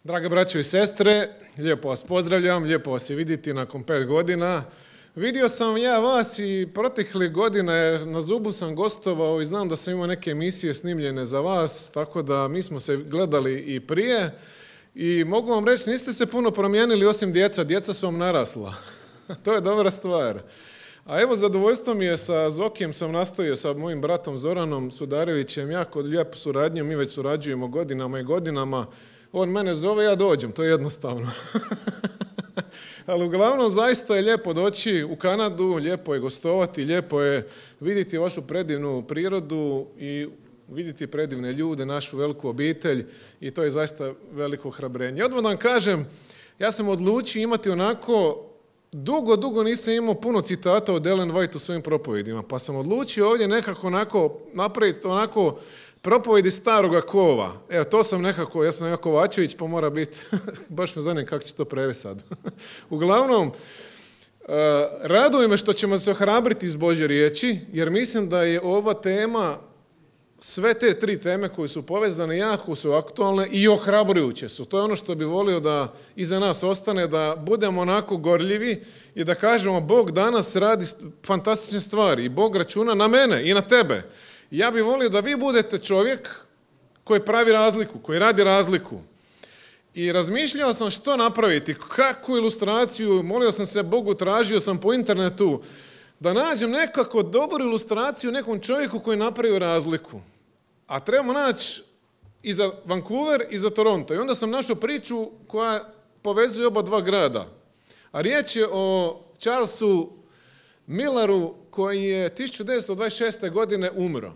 Drage braćo i sestre, lijepo vas pozdravljam, lijepo vas je vidjeti nakon 5 godina. Vidio sam ja vas i proteklih godina jer na Zubu sam gostovao i znam da sam imao neke emisije snimljene za vas, tako da mi smo se gledali i prije i mogu vam reći, niste se puno promijenili osim djeca su vam narasla. To je dobra stvar. A evo, zadovoljstvo mi je sa Zokijem, sam nastavio sa mojim bratom Zoranom Sudarevićem, jako lijepu suradnju, mi već surađujemo godinama i godinama. On mene zove, ja dođem, to je jednostavno. Ali uglavnom zaista je lijepo doći u Kanadu, lijepo je gostovati, lijepo je vidjeti vašu predivnu prirodu i vidjeti predivne ljude, našu veliku obitelj i to je zaista veliko hrabrenje. Odmah vam kažem, ja sam odlučio imati onako, dugo nisam imao puno citata od Ellen White u svojim propovedima, pa sam odlučio ovdje nekako onako napraviti onako propovedi staroga kova. Evo, to sam nekako, ja sam Kovačević, pa mora biti, baš me zanima kako će to prevesti sad. Uglavnom, raduje me što ćemo se ohrabriti iz Božje riječi, jer mislim da je ova tema, sve te 3 teme koje su povezane, jako su aktualne i ohrabrujuće su. To je ono što bi volio da iza nas ostane, da budemo onako gorljivi i da kažemo Bog danas radi fantastične stvari i Bog računa na mene i na tebe. Ja bih volio da vi budete čovjek koji pravi razliku, koji radi razliku. I razmišljao sam što napraviti, kakvu ilustraciju, molio sam se Bogu, tražio sam po internetu da nađem nekako dobru ilustraciju nekom čovjeku koji napravio razliku. A trebamo naći i za Vancouver i za Toronto. I onda sam našao priču koja povezuje oba dva grada. A riječ je o Charlesu Milleru koji je 1926. godine umro.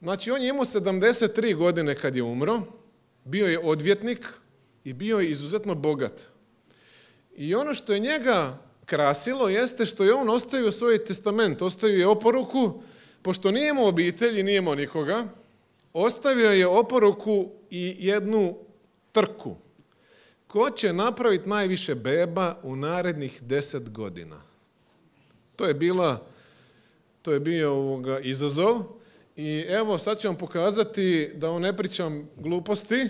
Znači, on je imao 73 godine kad je umro, bio je odvjetnik i bio je izuzetno bogat. I ono što je njega krasilo jeste što je on ostavio svoj testament, ostavio je oporuku, pošto nije imao obitelji, nije imao nikoga, ostavio je oporuku i jednu trku. Ko će napraviti najviše beba u narednih 10 godina? To je bio izazov i evo sad ću vam pokazati da ne pričam gluposti.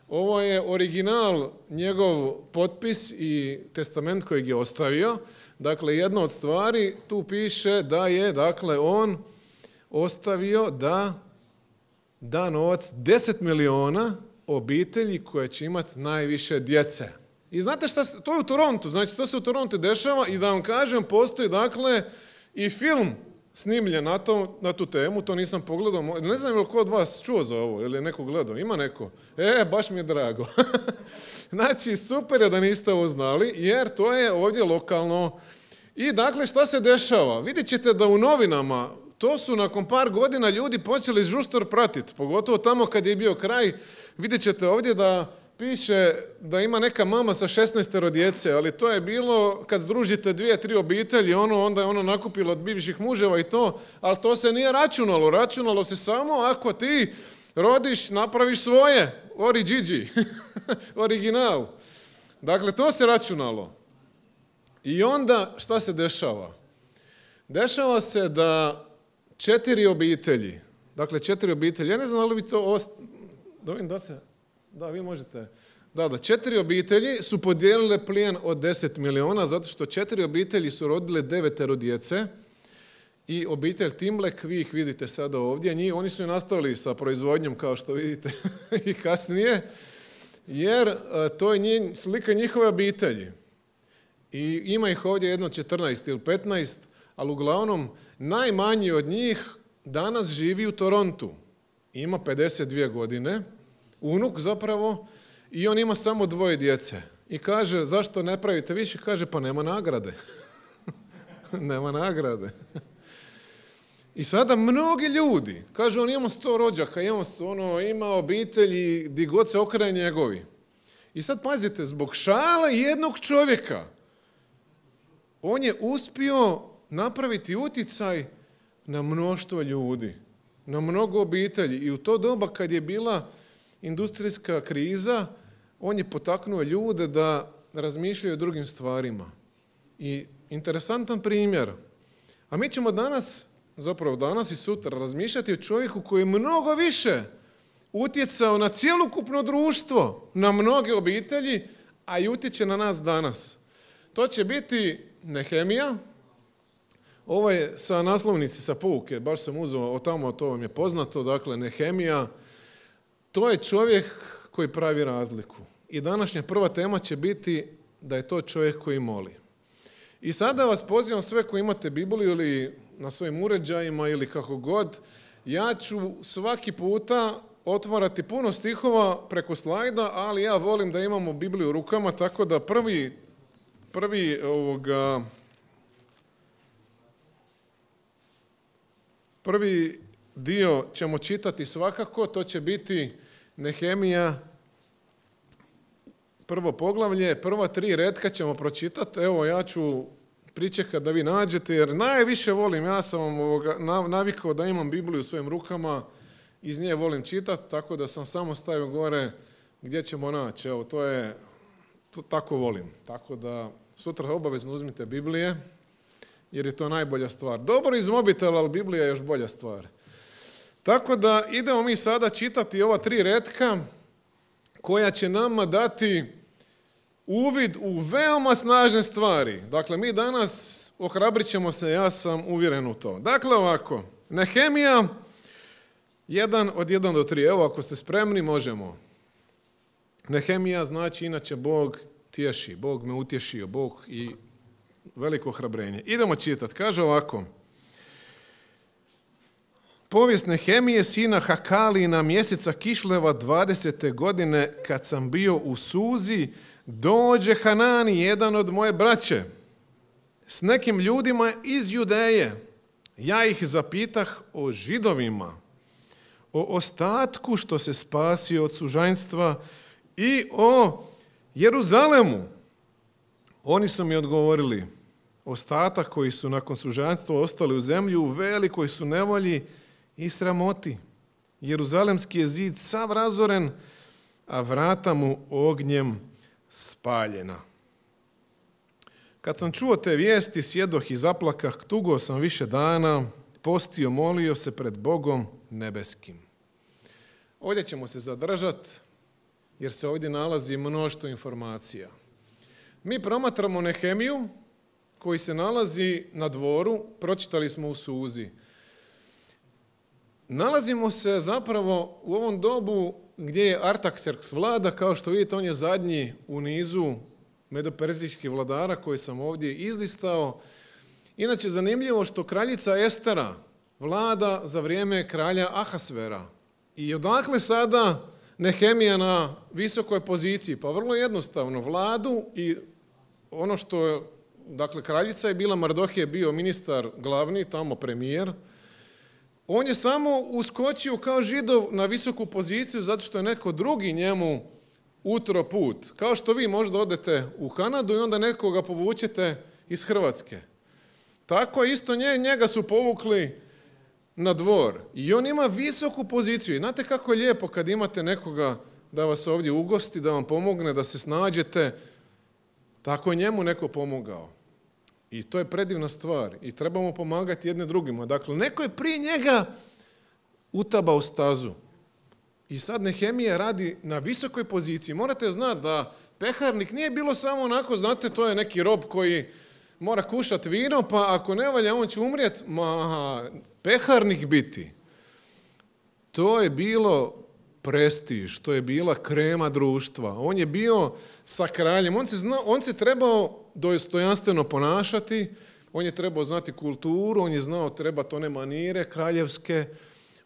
Ovo je original, njegov potpis i testament kojeg je ostavio. Dakle, jedna od stvari tu piše da je, dakle, on ostavio da novac 10 miliona obitelji koje će imati najviše djece. I znate šta, to je u Torontu, znači to se u Torontu dešava i da vam kažem, postoji dakle i film snimljen na tu temu, to nisam pogledao, ne znam je li ko od vas čuo za ovo ili je neko gledao, ima neko? Baš mi je drago. Znači, super je da niste ovo znali, jer to je ovdje lokalno. I dakle, šta se dešava? Vidjet ćete da u novinama, to su nakon par godina ljudi počeli žustor pratiti, pogotovo tamo kad je bio kraj, vidjet ćete ovdje da piše da ima neka mama sa 16 djece, ali to je bilo kad združite 2-3 obitelji, onda je ono nakupilo od bivših muževa i to, ali to se nije računalo. Računalo se samo ako ti rodiš, napraviš svoje, original. Dakle, to se računalo. I onda šta se dešava? Dešava se da 4 obitelji, dakle 4 obitelji, ja ne znam da li vi to Da, vi možete. Da, 4 obitelji su podijelile plijen od 10 miliona, zato što 4 obitelji su rodile 9 djece i obitelj Timlek, vi ih vidite sada ovdje, oni su i nastavili sa proizvodnjom, kao što vidite, i kasnije, jer to je slika njihove obitelji. I ima ih ovdje jedno 14 ili 15, ali uglavnom najmanji od njih danas živi u Torontu. Ima 52 godine, unuk zapravo, i on ima samo 2 djece. I kaže, zašto ne pravite više? Kaže, pa nema nagrade. Nema nagrade. I sada mnogi ljudi, kaže, on ima 100 rođaka, ima obitelji, di god se okrene njegovi. I sad pazite, zbog šale jednog čovjeka, on je uspio napraviti uticaj na mnoštvo ljudi, na mnogo obitelji. I u to doba kad je bila industrijska kriza, on je potaknuo ljude da razmišljaju o drugim stvarima. I interesantan primjer. A mi ćemo danas i sutra razmišljati o čovjeku koji je mnogo više utjecao na cjelokupno društvo, na mnoge obitelji, a i utječe na nas danas. To će biti Nehemija. Ovo je sa naslovnici, sa pouke, baš sam uzeo od tamo, to vam je poznato, dakle Nehemija, to je čovjek koji pravi razliku. I današnja prva tema će biti da je to čovjek koji moli. I sada vas pozivam sve koji imate Bibliju ili na svojim uređajima ili kako god, ja ću svaki puta otvarati puno stihova preko slajda, ali ja volim da imamo Bibliju u rukama, tako da prvi dio ćemo čitati svakako, to će biti Nehemija, prvo poglavlje, prva 3 retka ćemo pročitati. Evo, ja ću pričekati da vi nađete, jer najviše volim, ja sam vam navikao da imam Bibliju u svojim rukama, iz nje volim čitati, tako da sam samo stavio gore gdje ćemo naći. Evo, to tako volim. Tako da sutra obavezno uzmite Biblije, jer je to najbolja stvar. Dobro iz mobitela, ali Biblija je još bolja stvar. Tako da idemo mi sada čitati ova 3 retka koja će nama dati uvid u veoma snažne stvari. Dakle, mi danas ohrabrit ćemo se, ja sam uvjeren u to. Dakle, ovako, Nehemija, 1 od 1 do 3. Evo, ako ste spremni, možemo. Nehemija znači inače Bog tješi, Bog me utješio, Bog i veliko ohrabrenje. Idemo čitati. Kaže ovako. Povijest Nehemije, sina Hakalina, mjeseca Kišleva 20. godine, kad sam bio u Suzi, dođe Hanani, jedan od moje braće, s nekim ljudima iz Judeje. Ja ih zapitah o Židovima, o ostatku što se spasio od sužanjstva i o Jeruzalemu. Oni su mi odgovorili, ostatak koji su nakon sužanjstva ostali u zemlji u velikoj su nevolji i sramoti. Jeruzalemski je zid sav razoren, a vrata mu ognjem spaljena. Kad sam čuo te vijesti, sjedoh i zaplakah, tugo sam više dana, postio, molio se pred Bogom nebeskim. Ovdje ćemo se zadržati, jer se ovdje nalazi mnoštvo informacija. Mi promatramo Nehemiju, koji se nalazi na dvoru, pročitali smo u Suzi. Nalazimo se zapravo u ovom dobu gdje je Artaxerks vlada, kao što vidite, on je zadnji u nizu medoperzijskih vladara koji sam ovdje izlistao. Inače, zanimljivo što kraljica Estera vlada za vrijeme kralja Ahasvera. I odakle sada Nehemija na visokoj poziciji? Pa vrlo jednostavno, vladu i ono što, dakle, kraljica je bila, Mardohije je bio ministar glavni, tamo premijer. On je samo uskočio kao Židov na visoku poziciju zato što je neko drugi njemu utro put. Kao što vi možda odete u Kanadu i onda nekoga povučete iz Hrvatske. Tako isto njega su povukli na dvor. I on ima visoku poziciju. I znate kako je lijepo kad imate nekoga da vas ovdje ugosti, da vam pomogne, da se snađete. Tako je njemu neko pomogao. I to je predivna stvar. I trebamo pomagati jedne drugima. Dakle, neko je prije njega utabao stazu. I sad Nehemija radi na visokoj poziciji. Morate znati da peharnik nije bilo samo onako, znate, to je neki rob koji mora kušati vino, pa ako ne valja, on će umrijeti. Peharnik biti. To je bilo prestiž, to je bila krema društva. On je bio sa kraljem, on se trebao dostojanstveno ponašati, on je trebao znati kulturu, on je znao trebati one manire kraljevske,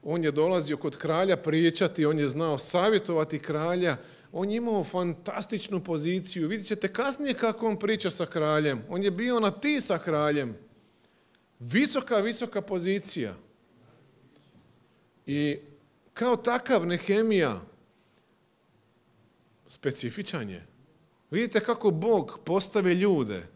on je dolazio kod kralja pričati, on je znao savjetovati kralja, on je imao fantastičnu poziciju. Vidjet ćete kasnije kako on priča sa kraljem. On je bio na ti sa kraljem. Visoka pozicija. I kao takav Nehemija specifičan je. Vidite kako Bog postave ljude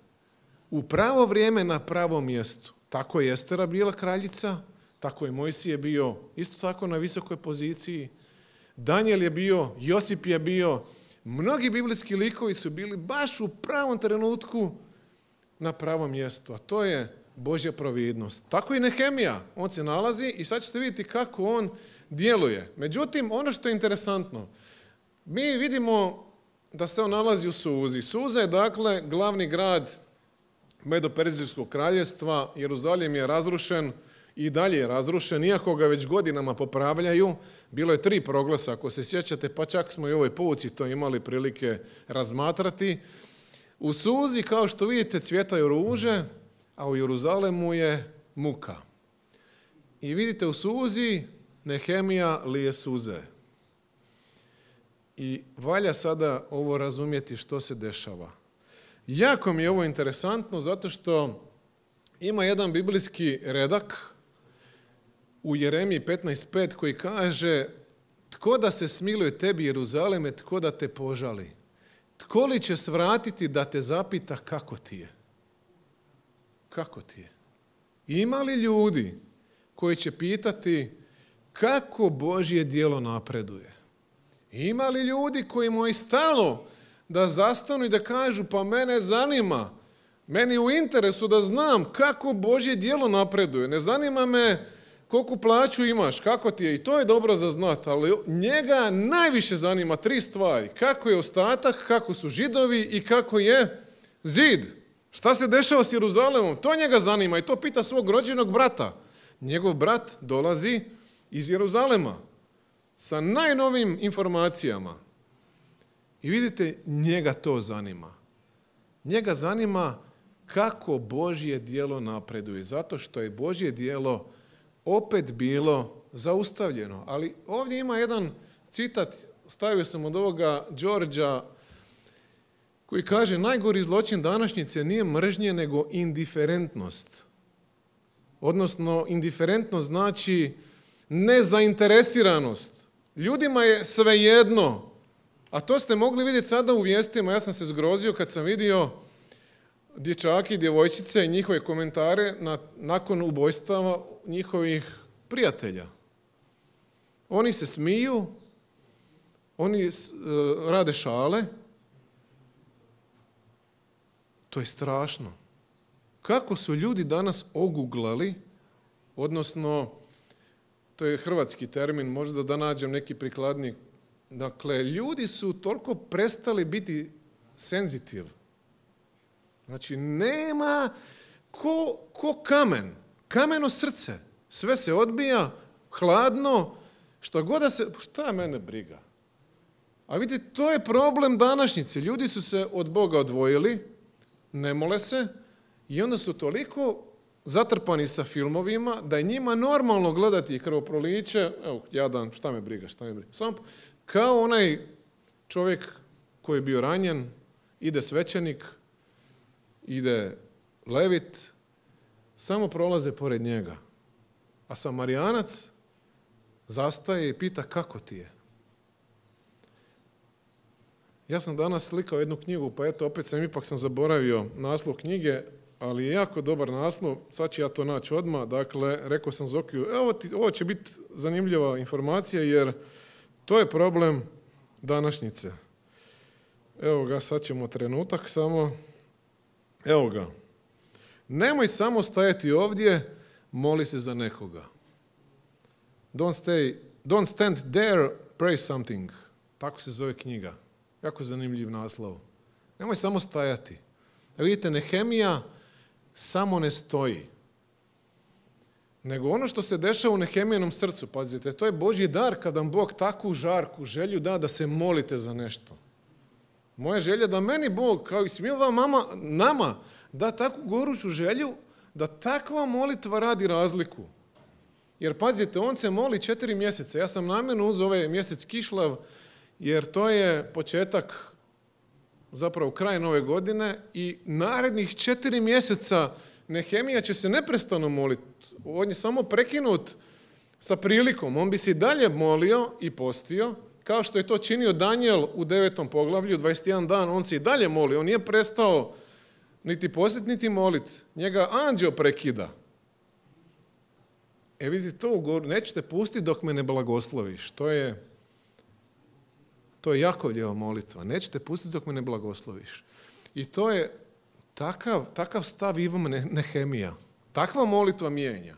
u pravo vrijeme na pravom mjestu. Tako je Estera bila kraljica, tako je Mojsije bio isto tako na visokoj poziciji. Danijel je bio, Josip je bio, mnogi biblijski likovi su bili baš u pravom trenutku na pravom mjestu. A to je Božja providnost. Tako i Nehemija. On se nalazi i sad ćete vidjeti kako on djeluje. Međutim, ono što je interesantno, mi vidimo da se on nalazi u Suzi. Suza je dakle glavni grad Medo-Perzijskog kraljevstva. Jeruzalim je razrušen i dalje je razrušen, iako ga već godinama popravljaju. Bilo je 3 proglasa, ako se sjećate, pa čak smo i u ovoj pouci to imali prilike razmatrati. U Suzi, kao što vidite, cvjetaju ruže, a u Jeruzalemu je muka. I vidite, u Suzi Nehemija lije suze. I valja sada ovo razumjeti što se dešava. Jako mi je ovo interesantno zato što ima jedan biblijski redak u Jeremiji 15.5 koji kaže: tko da se smiluje tebi, Jeruzaleme, tko da te požali? Tko li će svratiti da te zapita kako ti je? Kako ti je? Ima li ljudi koji će pitati kako Božje djelo napreduje? Ima li ljudi kojima je stalo da zastanu i da kažu pa mene zanima, meni je u interesu da znam kako Božje djelo napreduje. Ne zanima me koliku plaću imaš, kako ti je, i to je dobro za znati, ali njega najviše zanima 3 stvari. Kako je ostatak, kako su Židovi i kako je zid. Šta se dešava s Jeruzalemom? To njega zanima i to pita svog rođenog brata. Njegov brat dolazi iz Jeruzalema sa najnovim informacijama. I vidite, njega to zanima. Njega zanima kako Božje djelo napreduje, zato što je Božje djelo opet bilo zaustavljeno. Ali ovdje ima jedan citat, stavio sam od ovoga Đorđa, koji kaže: najgori zločin današnjice nije mržnje, nego indiferentnost. Odnosno, indiferentnost znači nezainteresiranost. Ljudima je svejedno. A to ste mogli vidjeti sada u vijestima. Ja sam se zgrozio kad sam vidio dječaki i djevojčice i njihove komentare nakon ubojstava njihovih prijatelja. Oni se smiju, oni rade šale. To je strašno. Kako su ljudi danas oguglali, odnosno, to je hrvatski termin, možda da nađem neki prikladnik. Dakle, ljudi su toliko prestali biti senzitiv. Znači, nema ko kamen, kameno srce. Sve se odbija, hladno, šta mene briga? A vidite, to je problem današnjice. Ljudi su se od Boga odvojili, ne mole se, i onda su toliko zatrpani sa filmovima da je njima normalno gledati krvoproliće. Evo, jadan, šta me briga. Samo kao onaj čovjek koji je bio ranjen, ide svećenik, ide levit, samo prolaze pored njega. A Samarijanac zastaje i pita kako ti je. Ja sam danas slikao jednu knjigu, pa eto, opet ipak sam zaboravio naslov knjige, ali je jako dobar naslov, sad ću ja to naći odmah. Dakle, rekao sam Zokiju, ovo će biti zanimljiva informacija, jer to je problem današnjice. Evo ga, sad ćemo trenutak samo. Evo ga. Nemoj samo stajati ovdje, moli se za nekoga. Don't stand there, pray something. Tako se zove knjiga. Jako zanimljiv naslov. Nemoj samo stajati. Vidite, Nehemija samo ne stoji. Nego ono što se dešava u Nehemijinom srcu, pazite, to je Božji dar kad vam Bog takvu žarku želju da se molite za nešto. Moja želja da meni Bog, kao i svima nama, da takvu goruću želju, da takva molitva radi razliku. Jer pazite, on se moli 4 mjeseca. Ja sam namjerno uzeo ovaj mjesec Kišlav, jer to je početak, zapravo kraj nove godine, i narednih 4 mjeseca Nehemija će se neprestano moliti. On je samo prekinut sa prilikom. On bi se i dalje molio i postio, kao što je to činio Danijel u 9. poglavlju, 21 dan, on se i dalje molio. On nije prestao niti postiti, niti moliti. Njega anđeo prekida. Vidite, to nećete pustiti dok me ne blagosloviš. To je Jakovljeva molitva. Nećete pustiti dok me ne blagosloviš. I to je takav stav ima Nehemija. Takva molitva mijenja.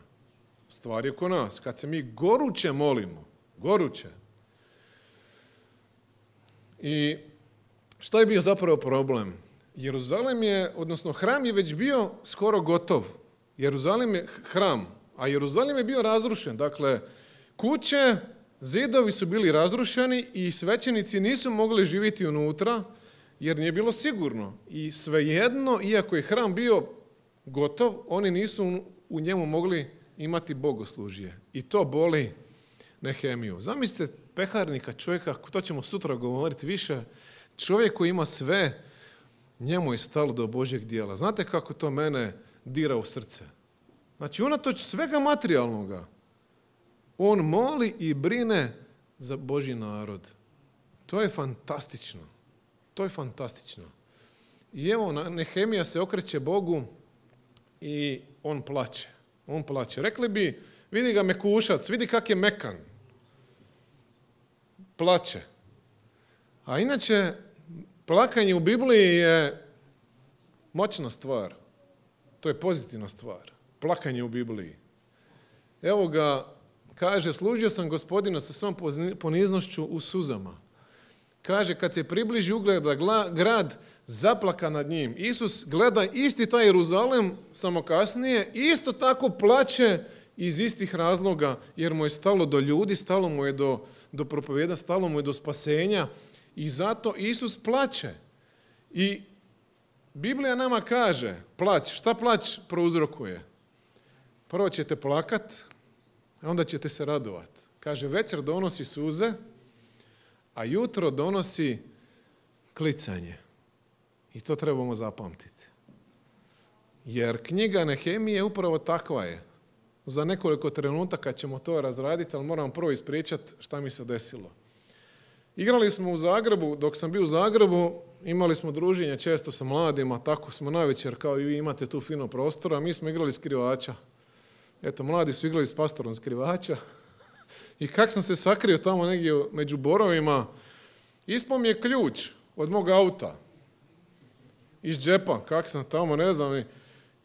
Stvar je oko nas. Kad se mi goruće molimo, goruće. I šta je bio zapravo problem? Jeruzalem je, odnosno hram je već bio skoro gotov. Jeruzalem je hram, a Jeruzalem je bio razrušen. Dakle, kuće, zidovi su bili razrušeni i svećenici nisu mogli živjeti unutra jer nije bilo sigurno. I svejedno, iako je hram bio gotov, oni nisu u njemu mogli imati bogoslužje. I to boli Nehemiju. Zamislite peharnika, čovjeka, to ćemo sutra govoriti više, čovjek koji ima sve, njemu je stalo do Božjeg dijela. Znate kako to mene dira u srce? Znači, unatoč svega materijalnoga, on moli i brine za Božji narod. To je fantastično. To je fantastično. I evo, Nehemija se okreće Bogu i on plače. On plače. Rekli bi, vidi ga mekušac, vidi kak je mekan. Plače. A inače, plakanje u Bibliji je moćna stvar. To je pozitivna stvar. Plakanje u Bibliji. Evo ga, kaže, služio sam Gospodinu sa svom poniznošću u suzama. Kaže, kad se približi ugleda grad, zaplaka nad njim. Isus gleda isti taj Jeruzalem, samo kasnije, isto tako plače iz istih razloga, jer mu je stalo do ljudi, stalo mu je do propovjeda, stalo mu je do spasenja i zato Isus plače. I Biblija nama kaže, plać, šta plać prouzrokuje? Prvo ćete plakat, a onda ćete se radovat. Kaže, večer donosi suze, a jutro donosi klicanje. I to trebamo zapamtiti. Jer knjiga Nehemije upravo takva je. Za nekoliko trenutaka ćemo to razraditi, ali moram prvo ispričati šta mi se desilo. Igrali smo u Zagrebu, dok sam bio u Zagrebu, imali smo druženje često sa mladima, tako smo navečer, kao i vi imate tu fino prostora, mi smo igrali skrivača. Eto, mladi su igrali s pastorom skrivača. I kak sam se sakrio tamo negdje među borovima, ispao mi je ključ od mog auta. Iz džepa, kak sam tamo, ne znam.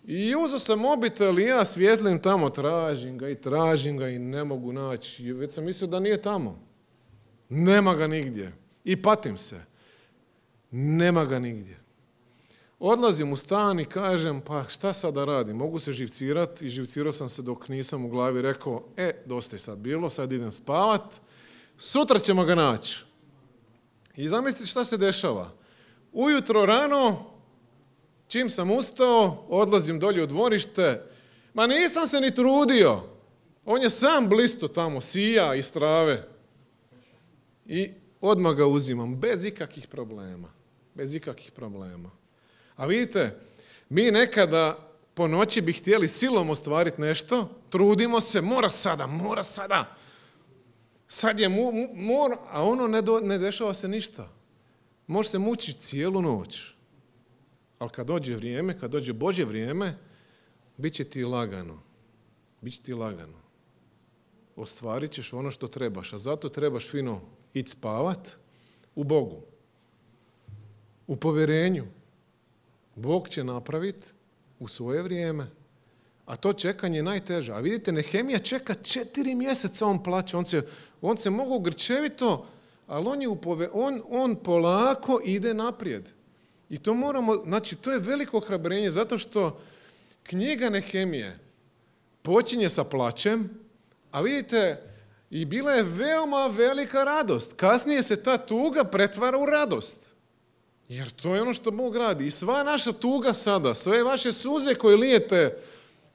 I uzeo sam mobitel i ja svjetlim tamo, tražim ga i ne mogu naći. Već sam mislio da nije tamo. Nema ga nigdje. I patim se. Nema ga nigdje. Odlazim u stan i kažem, pa šta sad da radim? Mogu se živcirati i živcirao sam se dok nisam u glavi rekao, dosta je sad bilo, sad idem spavat, sutra ćemo ga naći. I zamislite šta se dešava. Ujutro rano, čim sam ustao, odlazim dolje u dvorište, ma nisam se ni trudio. On je sam blisto tamo, sija iz trave. I odmah ga uzimam, bez ikakvih problema. Bez ikakvih problema. A vidite, mi nekada po noći bi htjeli silom ostvariti nešto, trudimo se, mora sada. Sad je mora, a ono ne dešava se ništa. Može se mučiti cijelu noć. Ali kad dođe vrijeme, kad dođe Božje vrijeme, bit će ti lagano. Bit će ti lagano. Ostvarit ćeš ono što trebaš, a zato trebaš fino ići spavat u Bogu. U povjerenju. Bog će napraviti u svoje vrijeme. A to čekanje je najteže. A vidite, Nehemija čeka 4 mjeseca, on plaće. On se mogu grčevito, ali on polako ide naprijed. I to znači, to je veliko ohrabrenje, zato što knjiga Nehemije počinje sa plaćem, a vidite, i bila je veoma velika radost. Kasnije se ta tuga pretvara u radost. Jer to je ono što Bog radi. I sva naša tuga sada, sve vaše suze koje lijete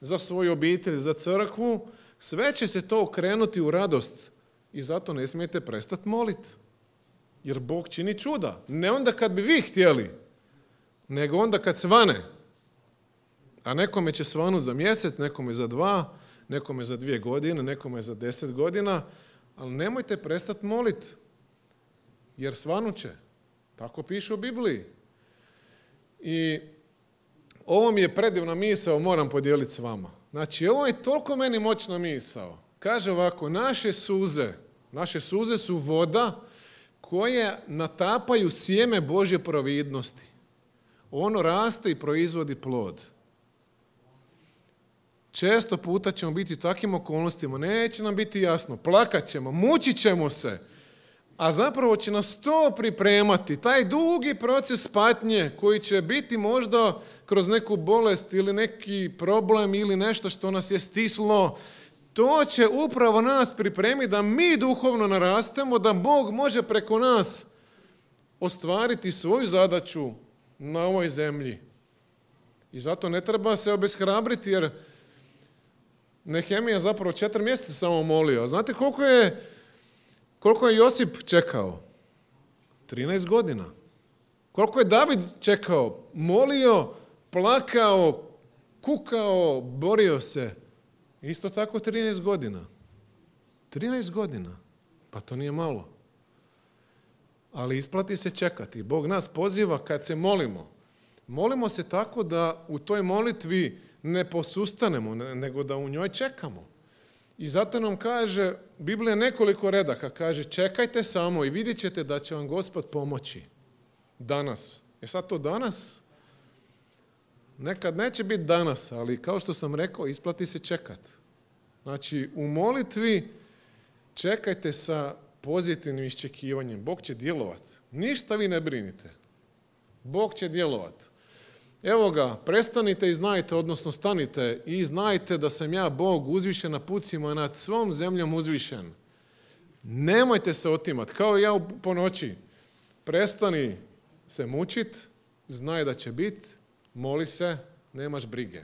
za svoju obitelj, za crkvu, sve će se to okrenuti u radost. I zato ne smijete prestati moliti. Jer Bog čini čuda. Ne onda kad bi vi htjeli, nego onda kad svane. A nekome će svanuti za mjesec, nekome za 2, nekome za 2 godine, nekome za 10 godina, ali nemojte prestati moliti. Jer svanut će. Tako piše u Bibliji. I ovo mi je predivna misao, moram podijeliti s vama. Znači, ovo je toliko meni moćna misao. Kaže ovako, naše suze su voda koje natapaju sjeme Božje providnosti. Ono raste i proizvodi plod. često puta ćemo biti u takvim okolnostima, neće nam biti jasno, plakat ćemo, mučit ćemo se, a zapravo će nas to pripremati, taj dugi proces patnje koji će biti možda kroz neku bolest ili neki problem ili nešto što nas je stislo, to će upravo nas pripremiti da mi duhovno narastemo, da Bog može preko nas ostvariti svoju zadaću na ovoj zemlji. I zato ne treba se obeshrabriti, jer Nehemija zapravo 4 mjeseca samo molio. Znate koliko je Josip čekao? 13 godina. Koliko je David čekao? Molio, plakao, kukao, borio se. Isto tako 13 godina. 13 godina. Pa to nije malo. Ali isplati se čekati. Bog nas poziva kad se molimo. Molimo se tako da u toj molitvi ne posustanemo, nego da u njoj čekamo. I zato nam kaže, Biblija nekoliko redaka kaže, čekajte samo i vidjet ćete da će vam Gospod pomoći. Danas. Sad to danas? Nekad neće biti danas, ali kao što sam rekao, isplati se čekat. Znači, u molitvi čekajte sa pozitivnim iščekivanjem. Bog će djelovati. Ništa vi ne brinite. Bog će djelovati. Evo ga, prestanite i znajte, odnosno stanite i znajte da sam ja Bog uzvišen na pucima nad svom zemljom uzvišen. Nemojte se otimati, kao i ja po noći. Prestani se mučit, znaj da će biti, moli se, nemaš brige.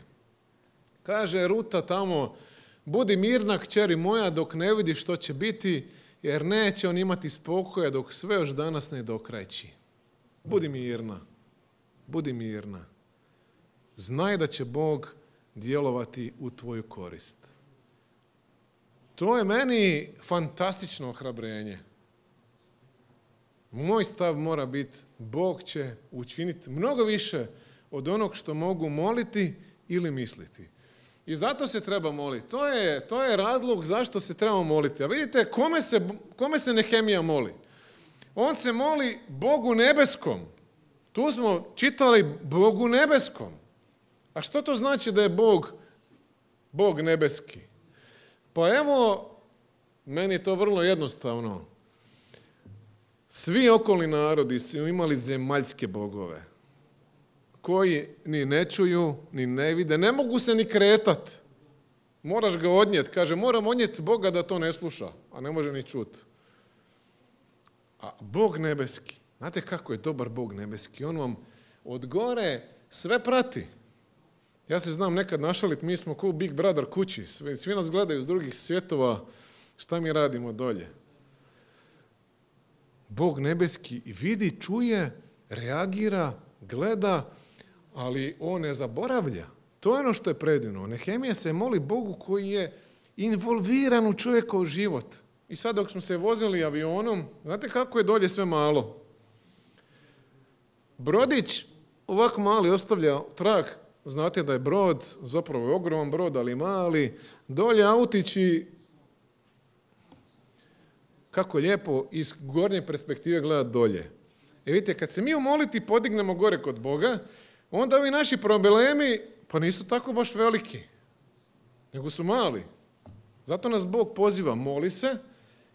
Kaže Ruta tamo, budi mirna kćeri moja dok ne vidiš što će biti, jer neće on imati spokoja dok sve još danas ne dokrajči. Budi mirna, budi mirna. Znaj da će Bog djelovati u tvoju korist. To je meni fantastično ohrabrenje. Moj stav mora biti, Bog će učiniti mnogo više od onog što mogu moliti ili misliti. I zato se treba moliti. To je razlog zašto se treba moliti. A vidite, kome se Nehemija moli? On se moli Bogu nebeskom. Tu smo čitali Bogu nebeskom. A što to znači da je Bog nebeski? Pa evo, meni je to vrlo jednostavno. Svi okolni narodi su imali zemaljske bogove, koji ni ne čuju, ni ne vide, ne mogu se ni kretati. Moraš ga odnijeti. Kaže, moram odnijeti Boga da to ne sluša, a ne može ni čuti. A Bog nebeski, znate kako je dobar Bog nebeski? On vam od gore sve prati. Ja se znam nekad našaliti, mi smo kao Big Brother kući, svi nas gledaju iz drugih svjetova, šta mi radimo dolje. Bog nebeski vidi, čuje, reagira, gleda, ali on ne zaboravlja. To je ono što je predivno. Nehemija se moli Bogu koji je involviran u čovjekov život. I sad dok smo se vozili avionom, znate kako je dolje sve malo? Brodić ovako mali ostavlja trag. Znate da je brod, zapravo je ogroman brod, ali mali. Dolje autići, kako lijepo iz gornje perspektive gledati dolje. Vidite, kad se mi u moliti podignemo gore kod Boga, onda ovi naši problemi, pa nisu tako baš veliki, nego su mali. Zato nas Bog poziva, moli se,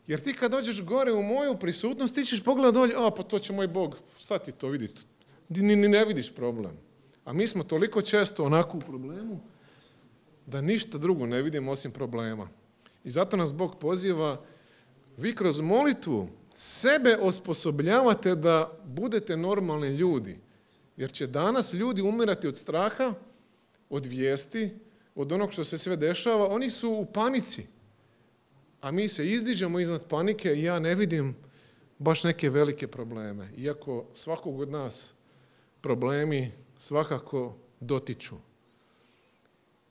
jer ti kad dođeš gore u moju prisutnost, ti ćeš pogledati dolje, pa to će moj Bog, šta ti to vidite? Ni ne vidiš problem. A mi smo toliko često onako u problemu, da ništa drugo ne vidimo osim problema. I zato nas Bog poziva, vi kroz molitvu sebe osposobljavate da budete normalni ljudi. Jer će danas ljudi umirati od straha, od vijesti, od onog što se sve dešava. Oni su u panici. A mi se izdižemo iznad panike i ja ne vidim baš neke velike probleme. Iako svakog od nas problemi svakako dotiču.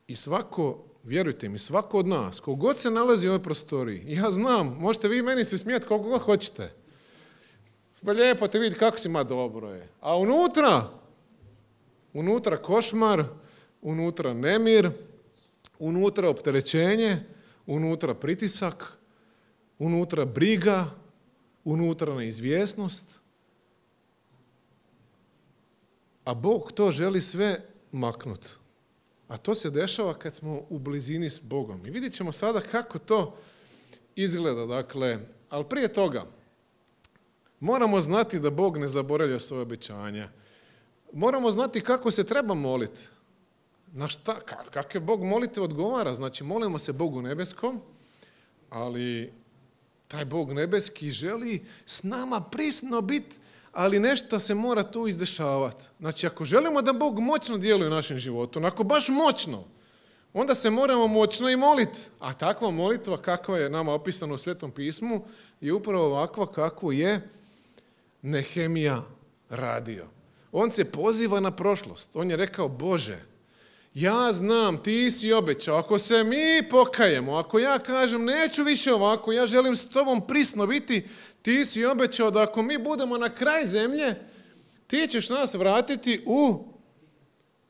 I svako, vjerujte mi, svako od nas, kogod se nalazi u ovoj prostoriji, ja znam, možete vi meni se smijeti koliko god hoćete. Pa lijepo te vidjeti kako si ma dobro je. A unutra košmar, unutra nemir, unutra opterećenje, unutra pritisak, unutra briga, unutra neizvjesnost. A Bog to želi sve maknuti. A to se dešava kad smo u blizini s Bogom. I vidjet ćemo sada kako to izgleda. Dakle, ali prije toga, moramo znati da Bog ne zaboravlja svoje obećanja. Moramo znati kako se treba moliti. Na šta, kakve Bog molite odgovara. Znači, molimo se Bogu nebeskom, ali taj Bog nebeski želi s nama prisno biti, ali nešto se mora tu izdešavati. Znači, ako želimo da Bog moćno djeluje u našem životu, ako baš moćno, onda se moramo moćno i moliti. A takva molitva, kakva je nama opisana u Svetom pismu, je upravo ovakva kakvu je Nehemija radio. On se poziva na prošlost. On je rekao, Bože, ja znam, ti si obećao, ako se mi pokajemo, ako ja kažem neću više ovako, ja želim s tobom prisno biti, ti si obećao da ako mi budemo na kraj zemlje, ti ćeš nas vratiti u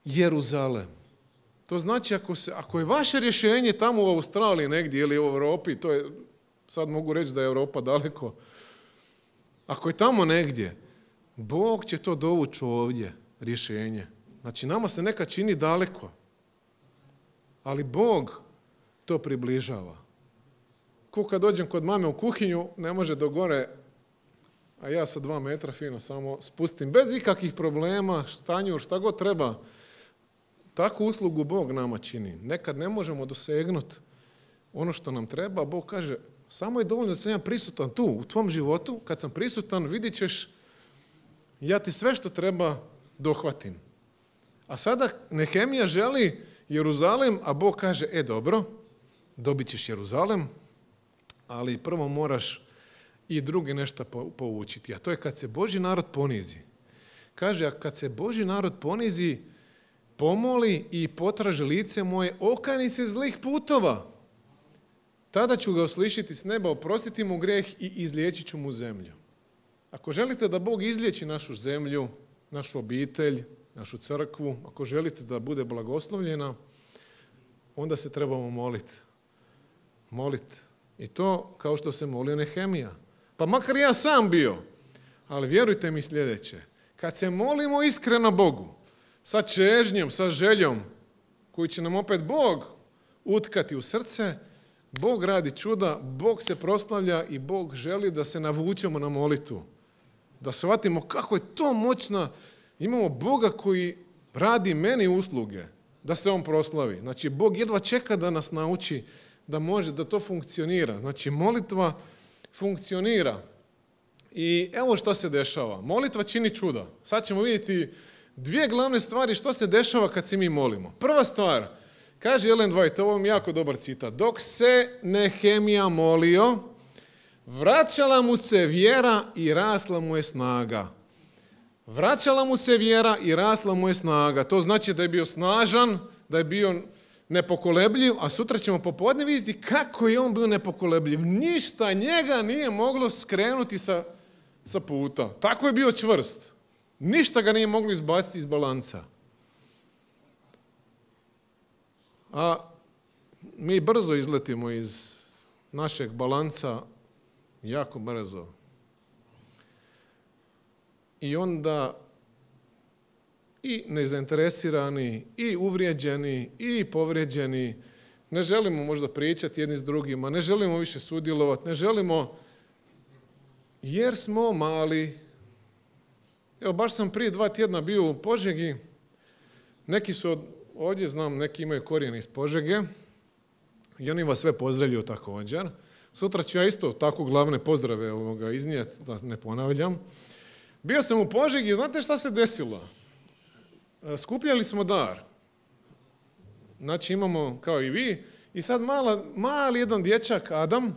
Jeruzalem. To znači ako je vaše rješenje tamo u Australiji negdje ili u Europi, to je, sad mogu reći da je Europa daleko, ako je tamo negdje, Bog će to dovući ovdje, rješenje. Znači, nama se nekad čini daleko, ali Bog to približava. Ko kad dođem kod mame u kuhinju, ne može do gore, a ja sa 2 metra fino samo spustim, bez ikakvih problema, stanjur, šta god treba. Takvu uslugu Bog nama čini. Nekad ne možemo dosegnuti ono što nam treba, Bog kaže, samo je dovoljno da sam ja prisutan tu, u tvom životu, kad sam prisutan, vidit ćeš, ja ti sve što treba dohvatim. A sada Nehemija želi Jeruzalem, a Bog kaže, dobro, dobit ćeš Jeruzalem, ali prvo moraš i drugi nešto poučiti. A to je kad se Božji narod ponizi. Kaže, a kad se Božji narod ponizi, pomoli i potraži lice moje, okani se zlih putova. Tada ću ga uslišiti s neba, oprostiti mu grijeh i izliječit ću mu zemlju. Ako želite da Bog izliječi našu zemlju, našu obitelj, našu crkvu, ako želite da bude blagoslovljena, onda se trebamo moliti. Moliti. I to kao što se molio Nehemija. Pa makar ja sam bio. Ali vjerujte mi sljedeće. Kad se molimo iskreno Bogu, sa čežnjom, sa željom, koju će nam opet Bog utkati u srce, Bog radi čuda, Bog se proslavlja i Bog želi da se navučemo na molitvu. Da shvatimo kako je to moćno. Imamo Boga koji radi meni usluge, da se on proslavi. Znači, Bog jedva čeka da nas nauči da može, da to funkcionira. Znači, molitva funkcionira. I evo što se dešava. Molitva čini čuda. Sad ćemo vidjeti 2 glavne stvari što se dešava kad se mi molimo. Prva stvar, kaže Ellen White, ovo je jako dobar citat, dok se Nehemija molio, vraćala mu se vjera i rasla mu je snaga. Vraćala mu se vjera i rasla mu je snaga. To znači da je bio snažan, da je bio nepokolebljiv, a sutra ćemo popodne vidjeti kako je on bio nepokolebljiv. Ništa njega nije moglo skrenuti sa puta. Tako je bio čvrst. Ništa ga nije moglo izbaciti iz balansa. A mi brzo izletimo iz našeg balansa, jako brzo. I onda i nezainteresirani, i uvrijeđeni, i povrijeđeni, ne želimo možda pričati jedni s drugima, ne želimo više sudjelovati, ne želimo, jer smo mali. Evo, baš sam prije 2 tjedna bio u Požegi, neki su ovdje, znam, neki imaju korijene iz Požege i oni vas sve pozdravljaju također. Sutra ću ja isto tako glavne pozdrave iznijeti, da ne ponavljam. Bio sam u Požegi i znate šta se desilo? Skupljali smo dar. Znači imamo, kao i vi, i sad mali jedan dječak, Adam,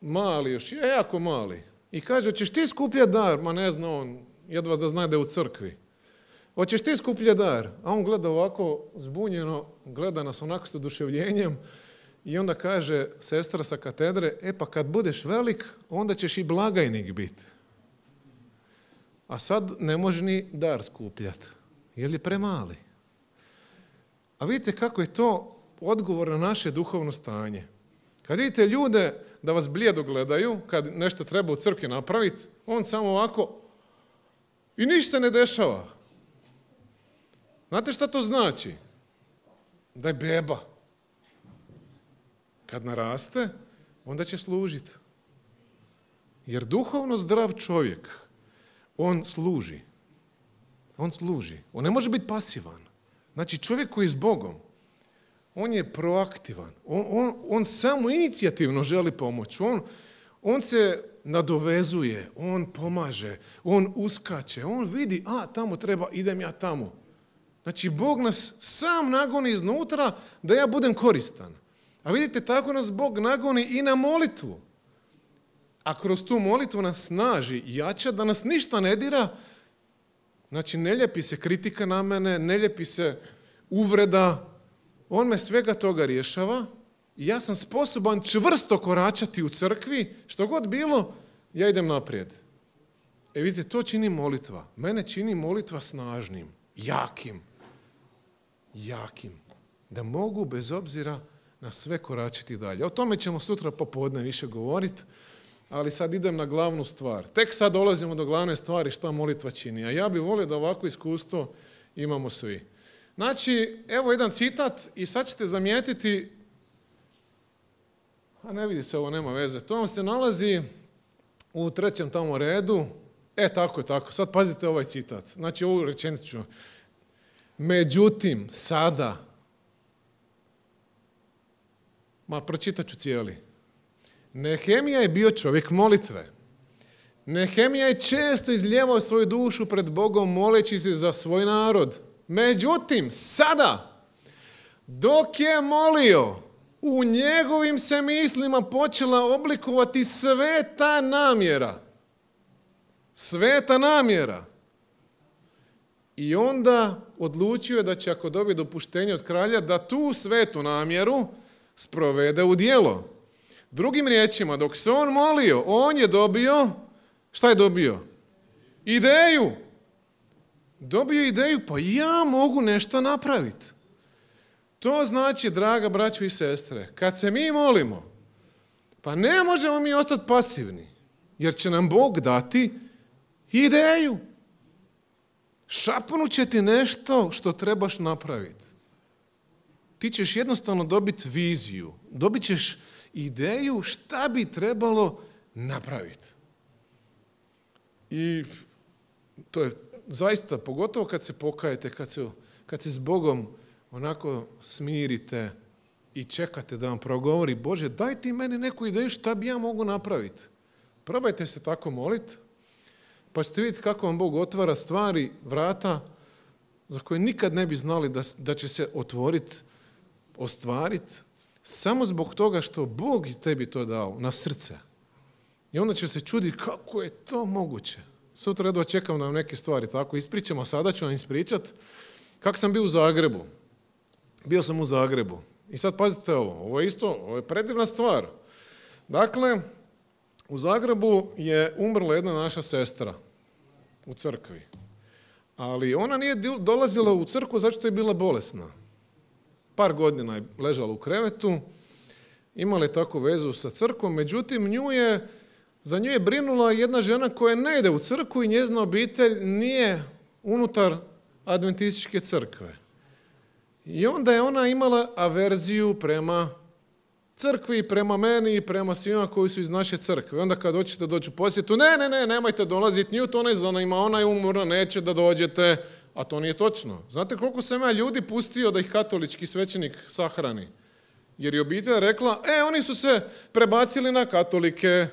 mali još, jako mali, i kaže, hoćeš ti skupljati dar? Ma ne zna on, jedva da zna da je u crkvi. Hoćeš ti skupljati dar? A on gleda ovako zbunjeno, gleda nas onako s oduševljenjem i onda kaže sestra sa katedre, pa kad budeš velik, onda ćeš i blagajnik biti. A sad ne može ni dar skupljati, jer je premali. A vidite kako je to odgovor na naše duhovno stanje. Kad vidite ljude da vas blijedo gledaju, kad nešto treba u crkvi napraviti, on samo ovako i ništa se ne dešava. Znate šta to znači? da je beba. Kad naraste, onda će služiti. Jer duhovno zdrav čovjek, on služi. On služi. On ne može biti pasivan. Znači čovjek koji je s Bogom, on je proaktivan. On samo inicijativno želi pomoći. On se nadovezuje, on pomaže, on uskače, on vidi, tamo treba, idem ja tamo. Znači, Bog nas sam nagoni iznutra da ja budem koristan. A vidite, tako nas Bog nagoni i na molitvu. A kroz tu molitvu nas snaži i jača da nas ništa ne dira. Znači, ne lijepi se kritika na mene, ne lijepi se uvreda. On me svega toga rješava i ja sam sposoban čvrsto koračati u crkvi, što god bilo, ja idem naprijed. Vidite, to čini molitva. Mene čini molitva snažnim, jakim. Da mogu bez obzira na sve koračiti dalje. O tome ćemo sutra popodne više govoriti, ali sad idem na glavnu stvar. Tek sad dolazimo do glavne stvari šta molitva čini. A ja bih volio da ovako iskustvo imamo svi. Znači, evo jedan citat i sad ćete zamijetiti, a ne vidi se, ovo nema veze, to vam se nalazi u 3. tamo redu. Tako. Sad pazite ovaj citat. Znači, ovu rečenicu ću. Međutim, sada, pročitat ću cijeli. Nehemija je bio čovjek molitve. Nehemija je često izlijevao svoju dušu pred Bogom moleći se za svoj narod. Međutim, sada, dok je molio, u njegovim se mislima počela oblikovati sveta namjera. Sveta namjera. I onda odlučio da će, ako dobije dopuštenje od kralja, da tu svetu namjeru sprovede u djelo. Drugim riječima, dok se on molio, on je dobio, šta je dobio? Ideju. Dobio ideju, pa ja mogu nešto napraviti. To znači, draga braćo i sestre, kad se mi molimo, pa ne možemo mi ostati pasivni, jer će nam Bog dati ideju. Šapnut će ti nešto što trebaš napraviti. Ti ćeš jednostavno dobiti viziju, dobit ćeš ideju šta bi trebalo napraviti. I to je zaista, pogotovo kad se pokajete, kad se s Bogom onako smirite i čekate da vam progovori, Bože, daj ti meni neku ideju šta bi ja mogu napraviti. Probajte se tako moliti, pa ćete vidjeti kako vam Bog otvara stvari, vrata, za koje nikad ne bi znali da će se otvoriti, ostvariti, samo zbog toga što Bog tebi to dao na srce. I onda će se čuditi kako je to moguće. Sutra jedva čekam da vam neke stvari tako ispričamo, a sada ću vam ispričati kako sam bio u Zagrebu. Bio sam u Zagrebu. I sad pazite ovo je predivna stvar. Dakle, u Zagrebu je umrla jedna naša sestra u crkvi. Ali ona nije dolazila u crkvu zato što je bila bolesna. Par godina je ležala u krevetu, imala je takvu vezu sa crkvom, međutim za nju je brinula jedna žena koja ne ide u crkvu i njezina obitelj nije unutar adventističke crkve. I onda je ona imala averziju prema crkvi, prema meni i prema svima koji su iz naše crkve. Onda kad hoćete doći u posjetu, ne, nemojte dolaziti, nju to ne zanima, ona je umorna, neće da dođete, a to nije točno. Znate koliko sam ja ljudi pustio da ih katolički svećenik sahrani? Jer je obitelj rekla, oni su se prebacili na katolike,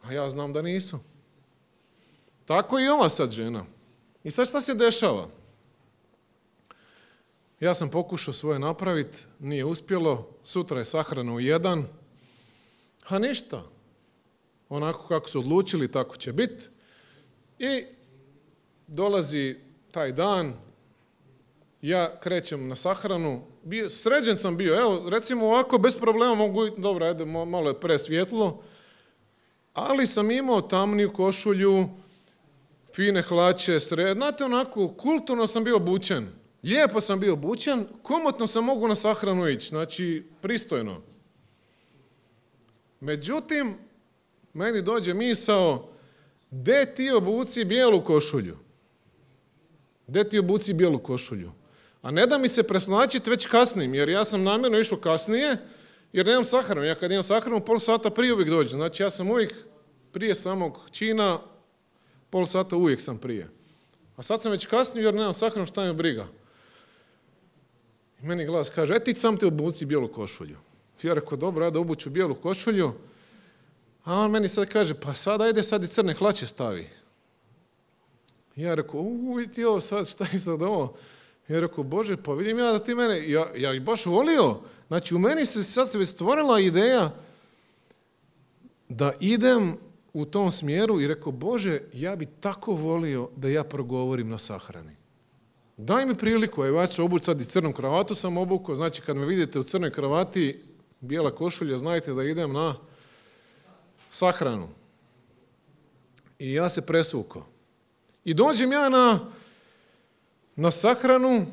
a ja znam da nisu. Tako i ova sad žena. I sad šta se dešava? Ja sam pokušao svoje napraviti, nije uspjelo, sutra je sahrana u 1, a ništa. Onako kako su odlučili, tako će biti. I dolazi taj dan, ja krećem na sahranu, sređen sam bio, evo, recimo ovako, bez problema mogu, dobro, ajde, malo je presvjetlo, ali sam imao tamniju košulju, fine hlače, znate, onako, kulturno sam bio obučen. Lijepo sam bio obučen, komotno sam mogu na sahranu ići, znači pristojno. Međutim, meni dođe misao, gdje ti obuci bijelu košulju? Gdje ti obuci bijelu košulju? A ne da mi se preslačiti već kasnim, jer ja sam namjerno išao kasnije, jer nemam sahranu. Ja kad imam sahranu, pol sata prije uvijek dođem. Znači ja sam uvijek prije samog čina, pol sata uvijek sam prije. A sad sam već kasnije jer nemam sahranu, šta me briga. I meni glas kaže, ti sam te obuci bijelu košulju. Ja rekao, dobro, ja da obuću bijelu košulju. A on meni sad kaže, pa sad ajde sad i crne hlače stavi. Ja rekao, vidi ovo sad, šta je sad ovo? Ja rekao, Bože, pa vidim ja da ti mene, ja ih baš volio. Znači, u meni se sad već stvorila ideja da idem u tom smjeru i rekao, Bože, ja bi tako volio da ja progovorim na sahrani. Daj mi priliku, evo ja ću obući sad i crnu kravatu sam obukao, znači kad me vidite u crnoj kravati, bijela košulja, znajte da idem na sahranu. I ja se presvukao. I dođem ja na sahranu,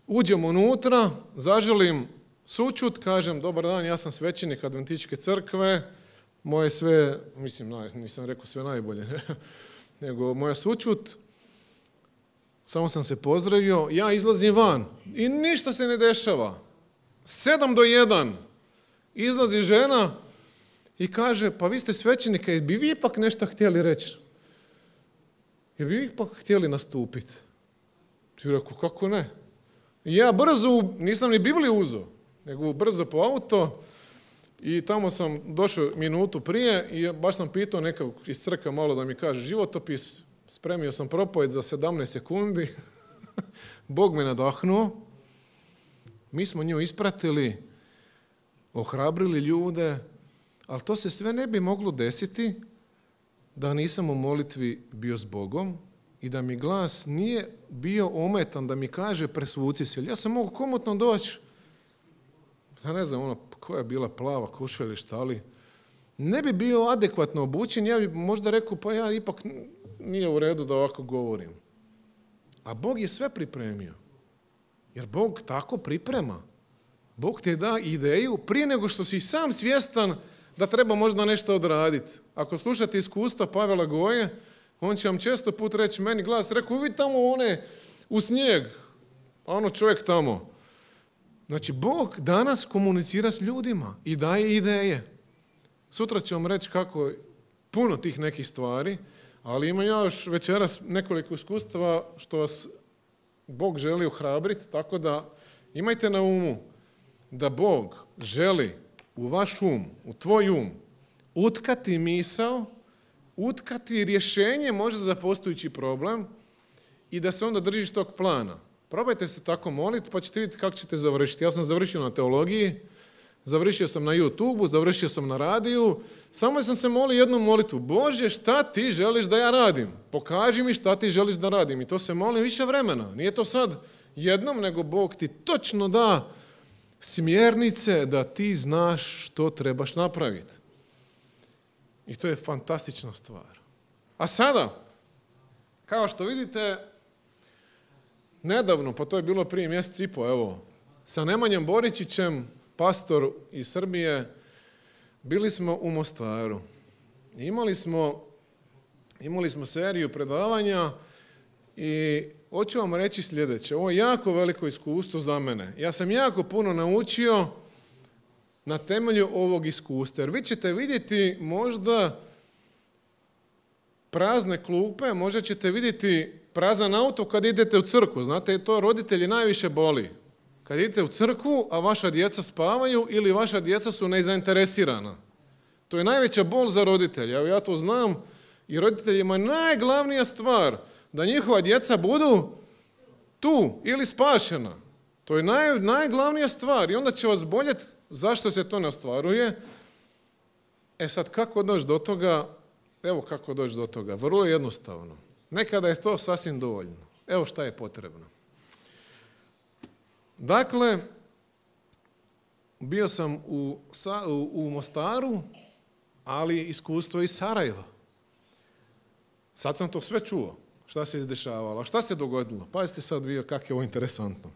uđem unutra, zaželim sućut, kažem, dobar dan, ja sam svećenik Adventističke crkve, moje sve, mislim, nisam rekao sve najbolje, nego moja sućut, samo sam se pozdravio, ja izlazim van i ništa se ne dešava. 7:1 izlazi žena i kaže, pa vi ste svećenika, bi vi ipak nešto htjeli reći? Jer bi vi ipak htjeli nastupiti? Ti rekao, kako ne? I ja brzo, nisam ni Bibliju uzeo, nego brzo po auto i tamo sam došao minutu prije i baš sam pitao nekog iz crkve malo da mi kaže životopis, spremio sam propovjed za 17 sekundi, Bog me nadahnuo, mi smo nju ispratili, ohrabrili ljude, ali to se sve ne bi moglo desiti da nisam u molitvi bio s Bogom i da mi glas nije bio ometan da mi kaže presvuci se. Ja sam mogao komotno doći, ja ne znam, koja je bila plava košulja ili šta li, ne bi bio adekvatno obučen, ja bi možda rekao, pa ja ipak nije u redu da ovako govorim. A Bog je sve pripremio. Jer Bog tako priprema. Bog ti da ideju prije nego što si sam svjestan da treba možda nešto odraditi. Ako slušate iskustva Pavela Goje, on će vam često put reći meni glas, rekao, vidi tamo one u snijeg, a ono čovjek tamo. Znači, Bog danas komunicira s ljudima i daje ideje. Sutra ću vam reći kako puno tih nekih stvari, ali ima još večeras nekoliko iskustava što vas Bog želi ohrabriti, tako da imajte na umu da Bog želi u vaš um, u tvoj um, utkati misao, utkati rješenje možda za postojeći problem i da se onda držiš tog plana. Probajte se tako moliti pa ćete vidjeti kako ćete završiti. Ja sam završio na teologiji, završio sam na YouTubeu, završio sam na radiju, samo sam se molio jednu molitvu. Bože, šta ti želiš da ja radim? Pokaži mi šta ti želiš da radim. I to se molim više vremena. Nije to sad jednom, nego Bog ti točno da smjernice da ti znaš što trebaš napraviti. I to je fantastična stvar. A sada, kao što vidite, nedavno, pa to je bilo prije mjesec i po, evo, sa Nemanjem Boričićem, pastor iz Srbije, bili smo u Mostaru. Imali smo seriju predavanja i hoću vam reći sljedeće. Ovo je jako veliko iskustvo za mene. Ja sam jako puno naučio na temelju ovog iskustva. Jer vi ćete vidjeti možda prazne klupe, možda ćete vidjeti prazan auto kad idete u crkvu. Znate, to roditelji najviše boli. Kad idete u crkvu, a vaša djeca spavaju ili vaša djeca su nezainteresirana. To je najveća bol za roditelje. Evo ja to znam i roditeljima je najglavnija stvar da njihova djeca budu tu ili spašena. To je najglavnija stvar i onda će vas boljeti zašto se to ne ostvaruje. E sad, kako doći do toga? Evo kako doći do toga. Vrlo jednostavno. Nekada je to sasvim dovoljno. Evo šta je potrebno. Dakle, bio sam u Mostaru, ali iskustvo iz Sarajeva. Sad sam to sve čuo. Šta se izdešavalo? A šta se dogodilo? Pazite sad vi kako je ovo interesantno.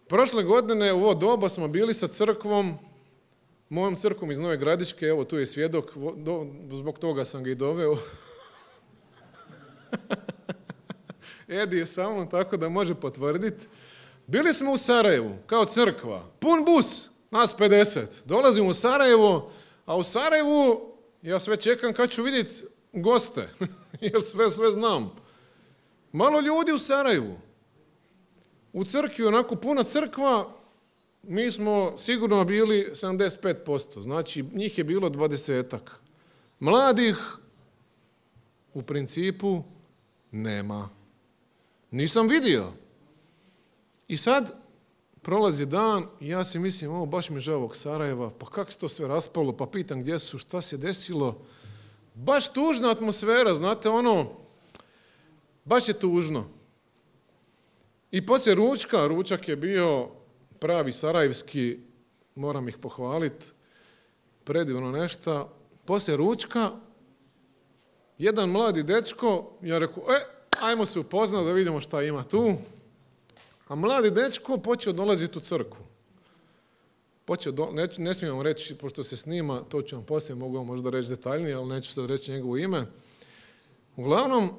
Prošle godine u ovo doba smo bili sa crkvom, mojom crkvom iz Nove Gradiške, evo tu je svjedok, zbog toga sam ga i doveo. Edi je sa mnom tako da može potvrditi. Bili smo u Sarajevu, kao crkva, pun bus, nas 50. Dolazimo u Sarajevo, a u Sarajevu ja sve čekam kad ću vidjeti goste, jer sve znam. Malo ljudi u Sarajevu. U crkvi, onako puna crkva, mi smo sigurno bili 75%, znači njih je bilo 20-ak. Mladih u principu nema. Nisam vidio. I sad prolazi dan i ja si mislim, ovo baš mi žao ovog Sarajeva, pa kako se to sve raspalo, pa pitam gdje su, šta se desilo. Baš tužna atmosfera, znate, baš je tužno. I poslije ručak je bio pravi sarajevski, moram ih pohvaliti, predivno nešto. Poslije ručka, jedan mladi dečko, ja rekao, ajmo se upoznati da vidimo šta ima tu. A mladi dečko počeo dolaziti u crkvu. Ne smijem vam reći, pošto se snima, to ću vam poslije, mogu vam možda reći detaljnije, ali neću sad reći njegovo ime. Uglavnom,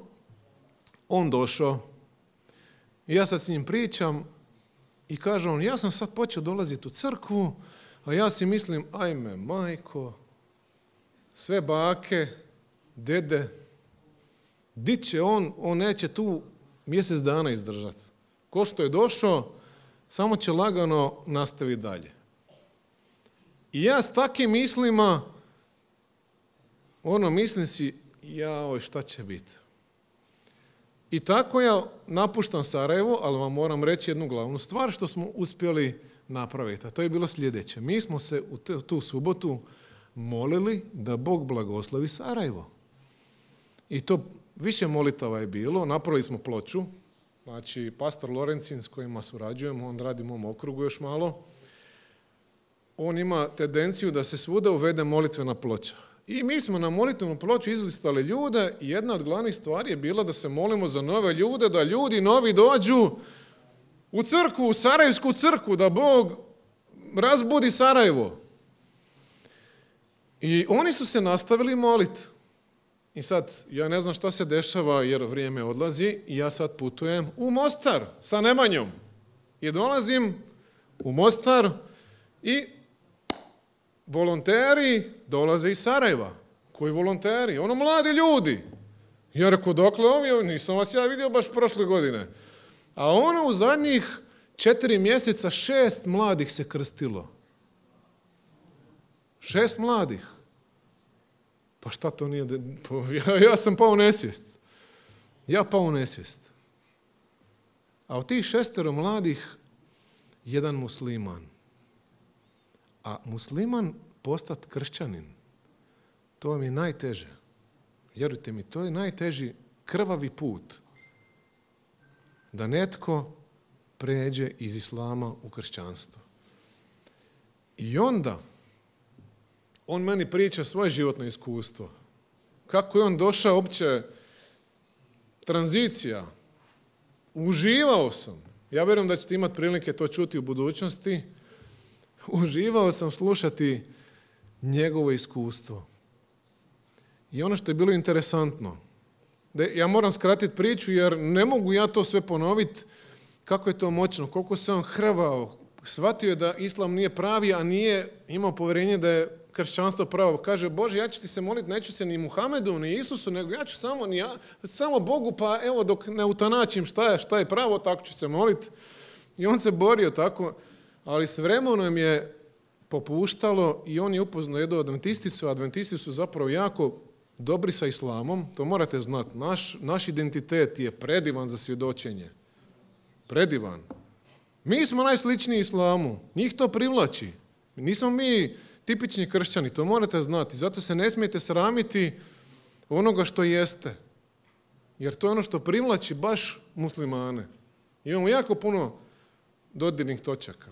on došao i ja sad s njim pričam i kaže on, ja sam sad počeo dolaziti u crkvu, a ja si mislim, ajme, majko, sve bake, dede, di će on neće tu mjesec dana izdržati. Ko što je došao, samo će lagano nastaviti dalje. I ja s takim mislima, mislim si, jao, šta će biti. I tako ja napuštam Sarajevo, ali vam moram reći jednu glavnu stvar što smo uspjeli napraviti. A to je bilo sljedeće. Mi smo se u tu subotu molili da Bog blagoslovi Sarajevo. I to više molitava je bilo. Napravili smo ploču. Znači, pastor Lorencin s kojima surađujemo, on radi u mom okrugu još malo. On ima tendenciju da se svuda uvede molitvena ploča. I mi smo na molitvenu ploču izlistali ljude i jedna od glavnih stvari je bila da se molimo za nove ljude, da ljudi novi dođu u crkvu, u Sarajevsku crkvu, da Bog razbudi Sarajevo. I oni su se nastavili moliti. I sad, ja ne znam šta se dešava jer vrijeme odlazi i ja sad putujem u Mostar sa Nemanjom. I dolazim u Mostar i volonteri dolaze iz Sarajeva. Koji volonteri? Mladi ljudi. Ja rekao, dokle ovi? Nisam vas ja vidio baš prošle godine. A u zadnjih 4 mjeseca 6 mladih se krstilo. 6 mladih. Pa šta to nije? Ja sam pao u nesvijest. Ja pao u nesvijest. A od tih 6 mladih, jedan musliman. A musliman postati kršćanin, to vam je najteže. Vjerujte mi, to je najteži krvavi put. Da netko pređe iz islama u kršćanstvo. I onda on meni priča svoje životno iskustvo. Kako je on došao uopće tranzicija. Uživao sam. Ja vjerujem da ćete imati prilike to čuti u budućnosti. Uživao sam slušati njegovo iskustvo. I ono što je bilo interesantno, ja moram skratiti priču jer ne mogu ja to sve ponoviti kako je to moćno, koliko se on hrvao, shvatio je da islam nije pravi, a nije imao povjerenje da je kršćanstvo pravo. Kaže, Bože, ja ću ti se moliti, neću se ni Muhamedu, ni Isusu, nego ja ću samo Bogu, pa evo dok ne utanačim šta je pravo, tako ću se moliti. I on se borio tako, ali s vremenom je popuštalo i on je upoznao jednu adventisticu, a adventisti su zapravo jako dobri sa islamom, to morate znati. Naš identitet je predivan za svjedočenje. Predivan. Mi smo najsličniji islamu, njih to privlači. Nismo mi tipični kršćani, to morate znati. Zato se ne smijete sramiti onoga što jeste. Jer to je ono što privlači baš muslimane. Imamo jako puno dodirnih točaka.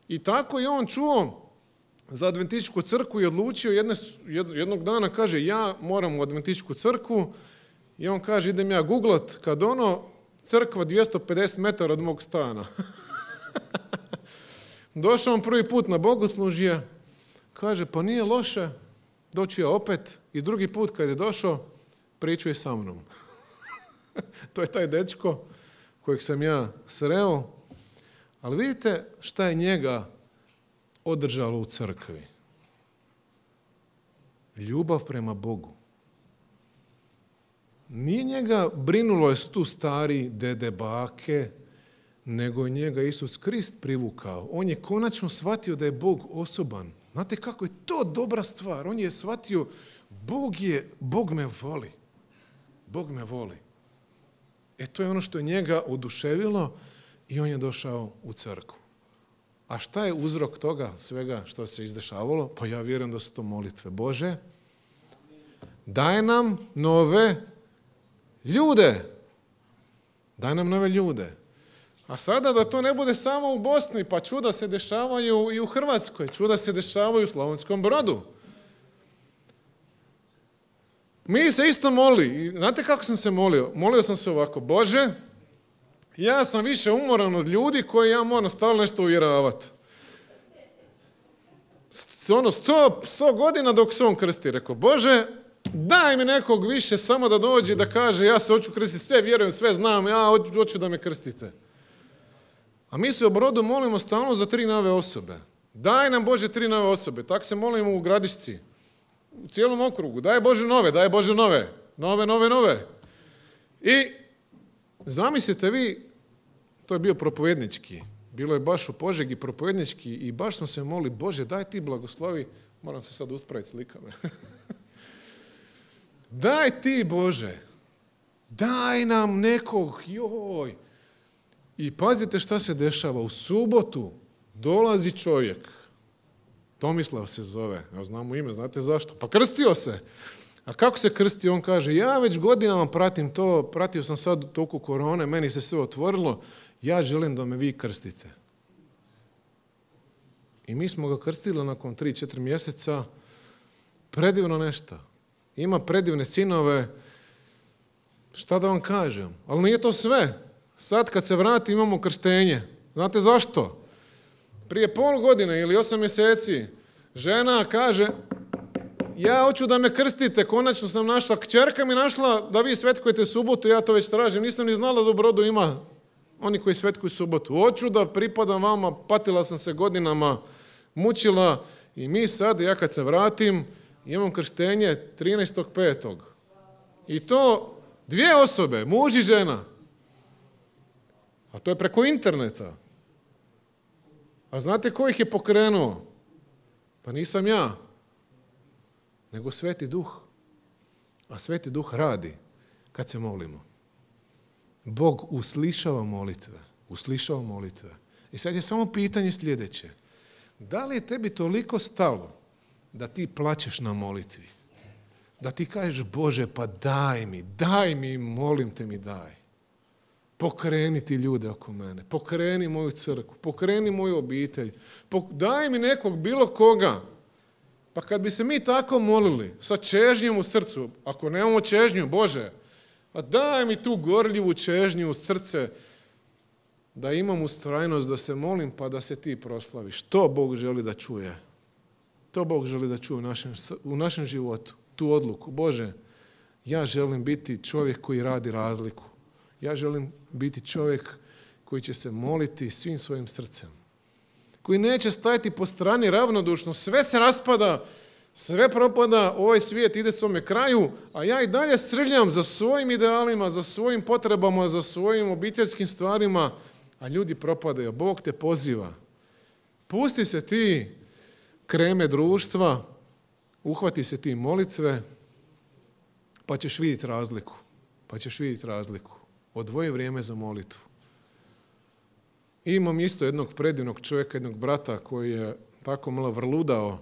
I tako je on čuo za adventističku crkvu i odlučio jednog dana, kaže, ja moram u adventističku crkvu i on kaže, idem ja googlat, kad crkva 250 metara od mog stana. Došao on prvi put na bogoslužje, kaže, pa nije loše, doći ja opet i drugi put kad je došao, pričuje sa mnom. To je taj dečko kojeg sam ja sreo, ali vidite šta je njega održalo u crkvi. Ljubav prema Bogu. Nije njega brinulo je tu stari dede, bake, nego je njega Isus Krist privukao. On je konačno shvatio da je Bog osoban. Znate kako je to dobra stvar? On je shvatio, Bog me voli. Bog me voli. To je ono što je njega oduševilo i on je došao u crkvu. A šta je uzrok toga svega što se izdešavalo? Pa ja vjerujem da su to molitve. Bože, daj nam nove ljude. Daj nam nove ljude. A sada da to ne bude samo u Bosni, pa čuda se dešavaju i u Hrvatskoj, čuda se dešavaju u Slavonskom Brodu. Mi se isto molili. Znate kako sam se molio? Molio sam se ovako, Bože, ja sam više umoran od ljudi koji ja moram stalno nešto uvjeravati. 100 godina dok se on krsti, rekao, Bože, daj mi nekog više samo da dođe i da kaže, ja se hoću krstiti, sve vjerujem, sve znam, ja hoću da me krstite. A mi se u Brodu molimo stalno za 3 nove osobe. Daj nam, Bože, 3 nove osobe. Tako se molimo u Gradišci, u cijelom okrugu. Daj Bože nove, daj Bože nove. Nove. I zamislite vi, to je bio propovednički. Bilo je baš u Požegi propovednički i baš smo se molili, Bože, daj ti blagoslovi. Moram se sad uspraviti slikame. Daj ti, Bože. Daj nam nekog, joj. I pazite šta se dešava. U subotu dolazi čovjek. Tomislav se zove. Ja znam mu ime, znate zašto? Pa krstio se. A kako se krstio? On kaže, ja već godinama pratim to, pratio sam sad u toku korone, meni se sve otvorilo, ja želim da me vi krstite. I mi smo ga krstili nakon 3-4 mjeseca. Predivno nešto. Ima predivne sinove. Šta da vam kažem? Ali nije to sve. Sad kad se vrati imamo krštenje. Znate zašto? Prije pol godine ili 8 mjeseci žena kaže, ja hoću da me krstite, konačno sam našla, kćerka mi našla da vi svetkujete subotu, ja to već tražim, nisam ni znala da u Brodu ima oni koji svetkuju subotu. Hoću da pripadam vama, patila sam se godinama, mučila i mi sad, ja kad se vratim, imam krštenje 13.5. I to 2 osobe, muž i žena. A to je preko interneta. A znate ko ih je pokrenuo? Pa nisam ja, nego Sveti Duh. A Sveti Duh radi kad se molimo. Bog uslišava molitve. I sad je samo pitanje sljedeće. Da li je tebi toliko stalo da ti plačeš na molitvi? Da ti kažeš, Bože, pa daj mi, molim te mi daj. Pokreni ti ljude oko mene, pokreni moju crkvu, pokreni moju obitelj, daj mi nekog, bilo koga. Pa kad bi se mi tako molili, sa čežnjom u srcu, ako nemamo čežnju, Bože, a daj mi tu gorljivu čežnju u srce, da imam ustrajnost, da se molim, pa da se ti proslaviš. To Bog želi da čuje. To Bog želi da čuje u našem životu, tu odluku. Bože, ja želim biti čovjek koji radi razliku. Ja želim biti čovjek koji će se moliti svim svojim srcem. Koji neće stajati po strani ravnodušno. Sve se raspada, sve propada, ovaj svijet ide svome kraju, a ja i dalje srljam za svojim idealima, za svojim potrebama, za svojim obiteljskim stvarima, a ljudi propadaju. Bog te poziva. Pusti se ti kreme društva, uhvati se ti molitve, pa ćeš vidjeti razliku. Odvoji vrijeme za molitvu. I imam isto jednog predivnog čovjeka, jednog brata koji je tako malo vrludao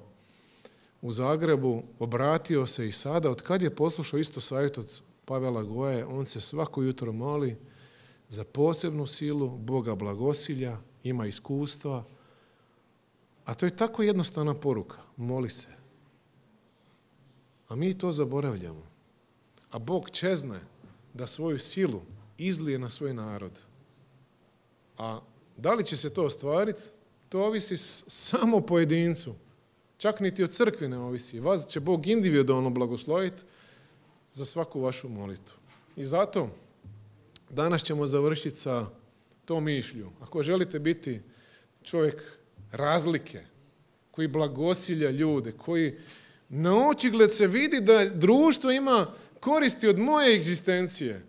u Zagrebu, obratio se i sada, od kad je poslušao isto savjet od Pavela Goje, on se svako jutro moli za posebnu silu, Boga blagosilja, ima iskustva, a to je tako jednostavna poruka, moli se. A mi to zaboravljamo. A Bog čezne da svoju silu izlije na svoj narod. A da li će se to ostvariti? To ovisi samo pojedincu. Čak niti od crkve ne ovisi. Vas će Bog individualno blagosloviti za svaku vašu molitvu. I zato danas ćemo završiti sa tom mišlju. Ako želite biti čovjek razlike, koji blagosilja ljude, koji na očigled se vidi da društvo ima koristi od moje egzistencije,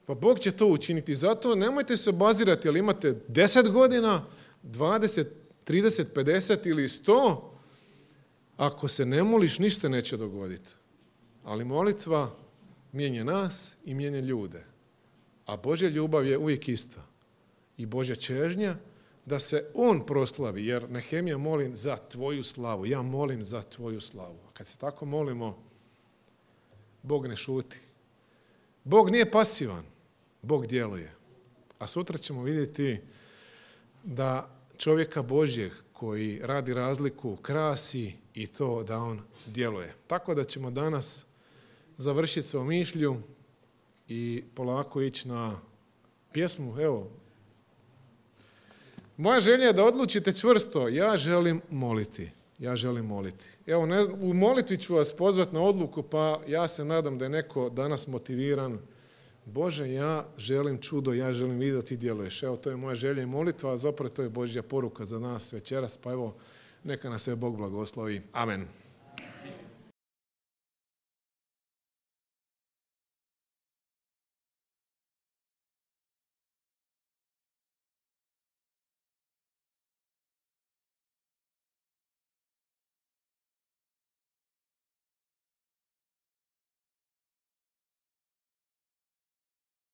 pa Bog će to učiniti. Zato nemojte se obazirati, ali imate 10 godina, 20, 30, 50 ili 100, ako se ne moliš, ništa neće dogoditi. Ali molitva mijenja nas i mijenja ljude. A Božja ljubav je uvijek ista. I Božja čežnja da se on proslavi, jer Nehemija molim za tvoju slavu. Ja molim za tvoju slavu. A kad se tako molimo, Bog ne šuti. Bog nije pasivan. Bog djeluje. A sutra ćemo vidjeti da čovjeka Božjeg koji radi razliku krasi i to da on djeluje. Tako da ćemo danas završiti sa mišlju i polako ići na pjesmu. Evo, moja želja je da odlučite čvrsto, ja želim moliti. Ja želim moliti. Evo, u molitvi ću vas pozvati na odluku, pa ja se nadam da je neko danas motiviran. Bože, ja želim čudo, ja želim vidjeti da ti djeluješ. Evo, to je moja želja i molitva, a zapravo to je Božja poruka za nas večeras, pa evo, neka nas sve Bog blagoslovi. Amen.